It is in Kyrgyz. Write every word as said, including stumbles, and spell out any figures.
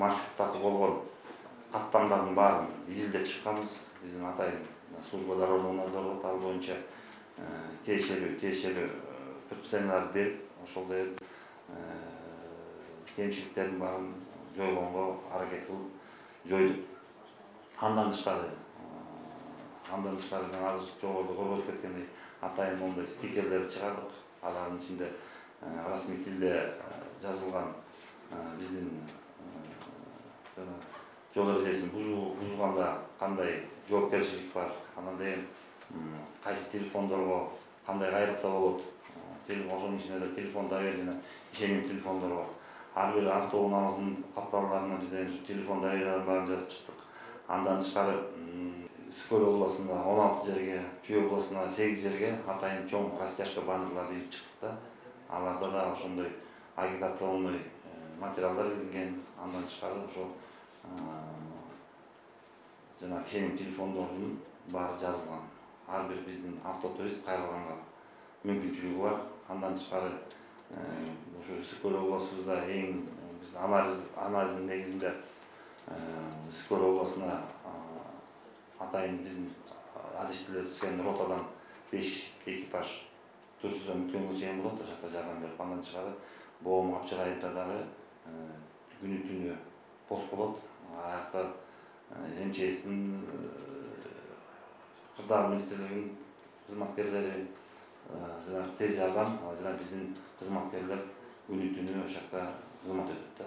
маршруттарды болгон каттамдардын баарын изилдеп чыкканбыз. Биздин атайын служба дорожного надзора ал боюнча тиешелүү тиешелүү предписанияларды берип, ошолдой кемчиликтердин баарын жойгонго аракет кылып жойдук. Андан тышкары, андан тышкары азыр жогоруда көргөзүп кеткендей атайын моундай стикерлерди чыгардык. Алардын ичинде расмий тилде жазылган биздин жол эрежесин бузганда кандай жоопкерчилик бар, анан деген кайсы телефондорго кандай кайрылса болот. Ошонун ичинде да телефон доверие жана ишеним телефондор бар. Ар бир автоунаалдын капталдарына бизден телефон доверияларын баарын жазып чыктык. Андан тышкары Скөл областында он алты жерге, Чүй областында сегиз жерге атайын чоң растяжка баннерларды илип чыктык да. Аларда да ошондой агитационный материалдар илинген. Андан тышкары ошо жана ишеним телефондордун баары жазылган. Ар бир биздин автотурист кайрылганга мүмкүнчүлүгү бар. Андан тышкары ошо Скөл областыбызда эң биздин анализ анализдин негизинде Скөл областына атайын биздин адистелешкен ротадан беш экипаж Турсудан Бүткөнгө чейин болот, ошол жакта жардам берип. Андан тышкары Боом Капчыгайымда дагы күнү түнү пост болот. Аякта эм че эстин кырдаал министрлигинин кызматкерлери жана тез жардам жана биздин кызматкерлер күнү түнү ошол жакта кызмат өтөт да.